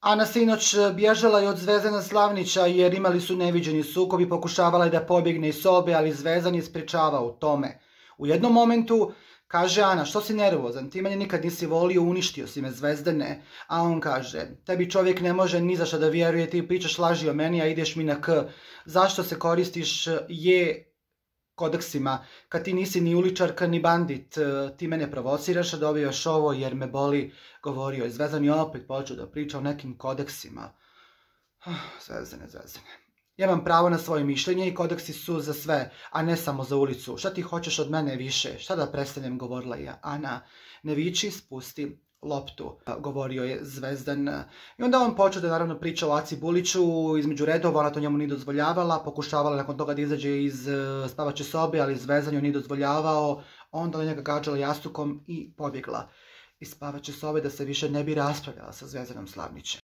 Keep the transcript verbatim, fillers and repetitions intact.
Ana sinoć bježala je od Zvezdana Slavnića jer imali su neviđeni sukob i pokušavala je da pobjegne iz sobe, ali Zvezdan je sprečavao tome. U jednom momentu kaže Ana, što si nervozan, ti mene nikad nisi volio, uništio si me Zvezdane. A on kaže, tebi čovjek ne može ni za šta da vjeruje, ti pričaš laži o meni, a ideš mi na k. Zašto se koristiš je kodeksima, kad ti nisi ni uličarka ni bandit, ti mene provociraš a dobijaš ovo jer me boli, govorio je Zvezdan i opet počeo da priča o nekim kodeksima. Zvezdane, Zvezdane. Ja imam pravo na svoje mišljenje i kodeksi su za sve, a ne samo za ulicu. Šta ti hoćeš od mene više? Šta da prestanem, govorila je Ana. Ne viči, spusti loptu, govorio je Zvezdan. I onda on počeo da naravno priča o Aci Buliću, između redova, ona to njemu nije dozvoljavala, pokušavala nakon toga da izađe iz spavače sobe, ali Zvezdan joj nije dozvoljavao, onda ona njega gađala jastukom i pobjegla iz spavače sobe da se više ne bi raspravljala sa Zvezdanom Slavnićem.